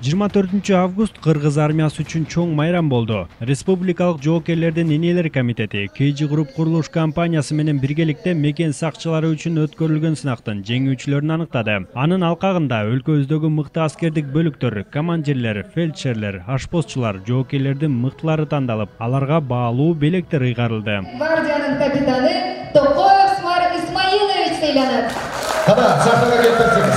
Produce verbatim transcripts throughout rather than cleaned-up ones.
жыйырма төртүнчү август Кыргыз армиясы үчүн чоң майрам болду. Республикалык жоокерлердин энелер комитети кей джи Group курулуш компаниясы менен биргеликте мекен сакчылары үчүн өткөрүлгөн сынактын жеңүүчүлөрүн аныктады. Анын алкагында өлкөбүздөгү мыкты аскердик бөлүктөр, командирлер, фельдшерлер, ашпозчулар, жоокерлердин мыктылары тандалып, аларга баалуу белектер ыйгарылды. Гвардиянын капитаны Токоев Смар Исмаилович сыйланат. Кана сахнага келип берсеңиз.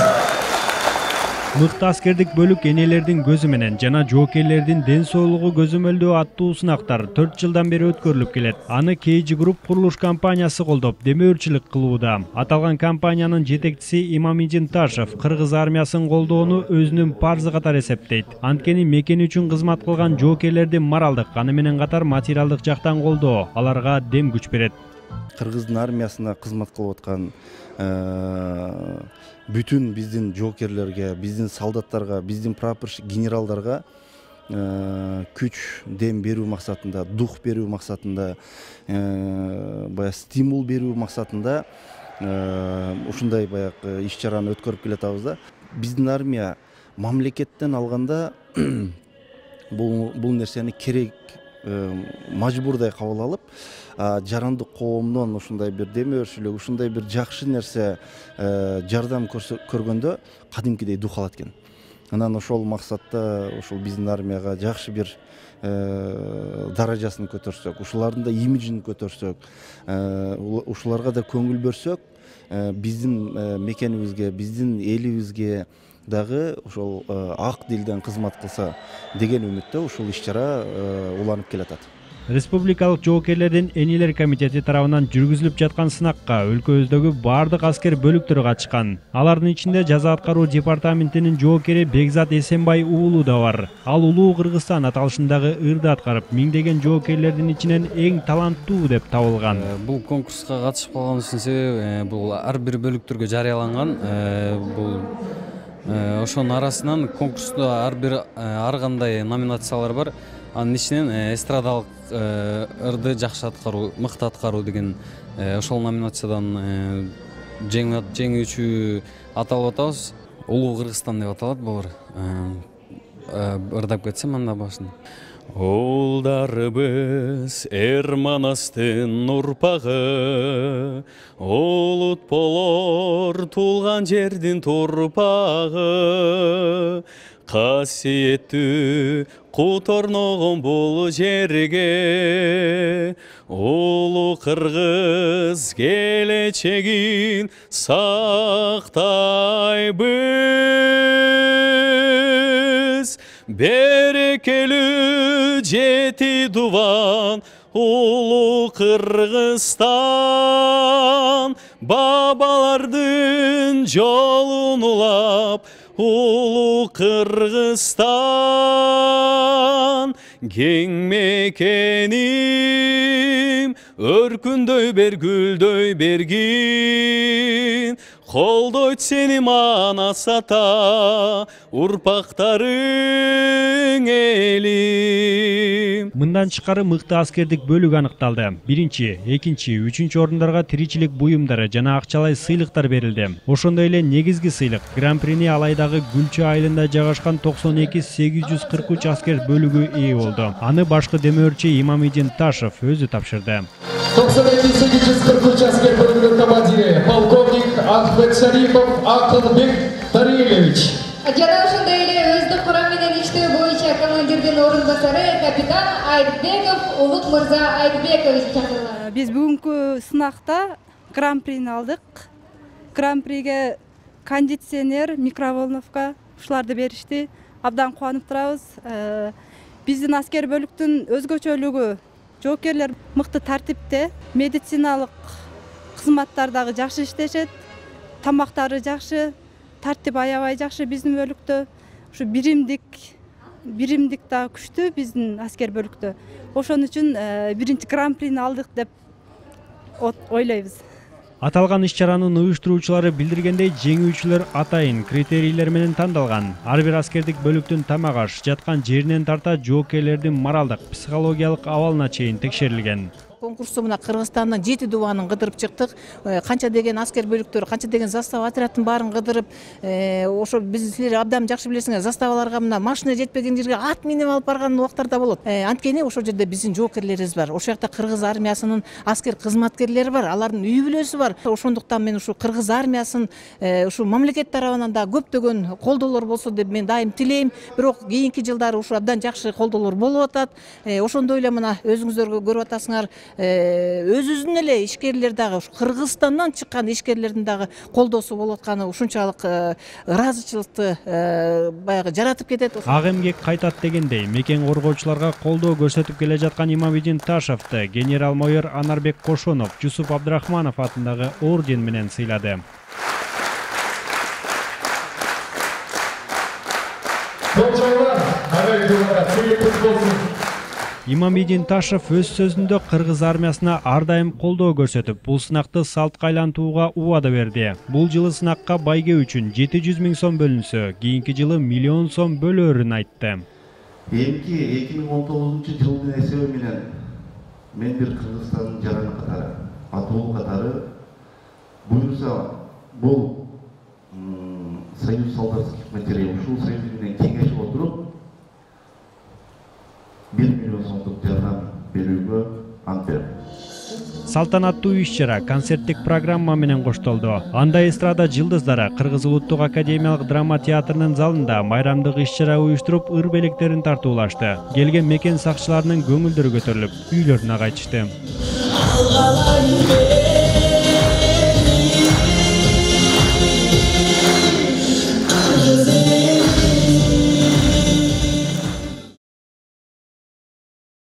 Мыкты аскердик бөлүк энелердин көзү менен жана жоокерлердин ден соолугу көзөмөлдөө аттуу сынактар төрт жылдан бери өткөрүлүп келет. Аны кей джи Group курулуш компаниясы колдоп, демөөрчүлүк кылууда. Аталган компаниянын жетекчиси Имамидин Ташев Кыргыз армиясын колдоону өзүнүн парзы катары эсептейт. Анткени мекени үчүн кызмат кылган жоокерлердин моралдык, аны менен катар материалдык жактан колдоо аларга дем күч берет. Кыргыздын армиясына кызмат кылып аткан бүтүн биздин жоокерлерге, биздин солдаттарга, биздин прапорщик генералдарга күч, дем берүү максатында, дух берүү максатында, баягы стимул берүү максатында ушундай баягы иш-чараны өткөрүп келатабыз да. Биздин армия мамлекеттен алганда бул бул нерсени керек, мажбурдай кабыл алып, жарандык коомдон ушундай бир демөөрчүлүк, ушундай бир жакшы нерсе жардам көргөндө кадимкидей дух алат экен. Анан ошол максатта ошол биздин армияга жакшы бир даражасын көтөрсөк, ушулардын да имиджин көтөрсөк, ушуларга да көңүл бөлсөк, биздин мекенибизге, биздин элибизге дагы ошол ак дилден кызмат кылса деген үмүттө ушул иш-чара уланып келатат. Республикалык жоокерлердин энелер комитети тарабынан жүргүзүлүп жаткан сынакка өлкөбүздөгү бардык аскер бөлүктөрү катышкан. Алардын ичинде жаза аткаруу департаментинин жоокери Бекзат Эсенбай уулу да бар. Ал Улуу Кыргызстан аталышындагы ырды аткарып, миңдеген жоокерлердин ичинен эң таланттуу деп табылган. Бул конкурска катышып калганыбыздын себеби бул ар бир бөлүктөргө жарыяланган. Бул ошонун арасынан конкурста ар бир ар кандай номинациялар бар. Анын ичинен эстрадалык ырды жакшы аткаруу, мыкты аткаруу деген ошол номинациядан жеңүүчү аталып атабыз. Улуу Кыргызстан деп аталат бул ырдап кетсем анда башын. Улдарыбыз эр манастын урпагы, улут болор туулган жердин турпагы, касиеттүү кут орногон бул жерге, улуу Кыргыз келечегин сактайбыз. Берекелүү жети дубан улуу Кыргызстан, бабалардын жолун улап улуу Кыргызстан. Кең мекеним өркүндөй бер, гүлдөй бергин, колдойт сени манас ата, урпактарың элим. Мындан тышкары мыкты аскердик бөлүк аныкталды. Биринчи, экинчи, үчүнчү орундарга тиричилик буюмдары жана акчалай сыйлыктар берилди. Ошондой эле негизги сыйлык Гран-прини Алайдагы Гүлчү айылында жайгашкан токсон эки сегиз жүз кырк үч аскер бөлүгү ээ болду. Аны башкы демөөрчү Имамидин Ташев өзү тапшырды. токсон эки сегиз жүз кырк үч аскер бөлүгүнүн командири полковник Ахмет Шарипов Акылбек Тарилевич. Жана ошондой эле өздүк курам менен иштөө боюнча командирдин орун басары капитан Айтбеков Улук мырза Айтбекович чакырылат. Биз бүгүнкү сынакта гран-прини алдык. Гран-приге кондиционер, микроволновка ушуларды беришти. Абдан кубанып турабыз. Биздин аскер бөлүктүн өзгөчөлүгү жоокерлер мыкты тартипте, медициналык кызматтар дагы жакшы иштешет, тамактары жакшы, тартип аябай жакшы биздин бөлүктө. Ушу биримдик, биримдик дагы күчтүү биздин аскер бөлүктө. Ошон үчүн биринчи гран-прини алдык деп ойлойбуз. Аталган иш-чаранын уюштуруучулары билдиргендей, жеңүүчүлөр атайын критерийлер менен тандалган. Ар бир аскердик бөлүктүн тамак аш, жаткан жеринен тарта жоокерлердин моралдык, психологиялык абалына чейин текшерилген. конкурсту мына Кыргызстандан жети дубанын кыдырып чыктык. Канча деген аскер бөлүктөр, канча деген застава отрядтын баарын кыдырып, ошо биз силер абдан жакшы билесиңер, заставаларга мына машина жетпеген жерге ат минип алып барган убактарда болот. Анткени ошол жерде биздин жоокерлерибиз бар. Ошол жакта кыргыз армиясынын аскер кызматкерлери бар, алардын үй бүлөсү бар. Ошондуктан мен ушу кыргыз армиясын ушу мамлекет тарабынан да көптөгөн колдоолор болсо деп мен дайым тилейм. Бирок кийинки жылдары ушу абдан жакшы колдоолор болуп атат. Ошондой эле мына өзүңүздөр көрүп атасыңар, өзүбүздүн эле ишкерлер дагы ушу Кыргызстандан чыккан ишкерлердин дагы колдоосу болуп атканы ушунчалык ыраазычылыкты баягы жаратып кетет. Ак эмгек кайтат дегендей, мекен коргоочуларга колдоо көрсөтүп келе жаткан Имамидин Ташевди генерал-майор Анарбек Кошонов Жусуп Абдрахманов атындагы орден менен сыйлады. Имамидин Ташев өз сөзүндө кыргыз армиясына ар дайым колдоо көрсөтүп, бул сынакты салтка айлантууга убада берди. Бул жылы сынакка байге үчүн жети жүз миң сом бөлүнсө, кийинки жылы миллион сом бөлөөрүн айтты. Эмки эки миң он тогузунчу жылдын эсеби менен мен бир Кыргызстандын жараны катары, атуу катары буюрса бул союз солдатских материалов ушул союз менен кеңешип отуруп бир миллион сомдук жардам берүүгө ант берем. Салтанаттуу иш-чара концерттик программа менен коштолду. Анда эстрада жылдыздары Кыргыз Улуттук академиялык драма театрынын залында майрамдык иш-чара уюштуруп, ыр белектерин тартуулашты. Келген мекен сакчыларынын көңүлдөрү көтөрүлүп, үйлөрүнө кайтышты.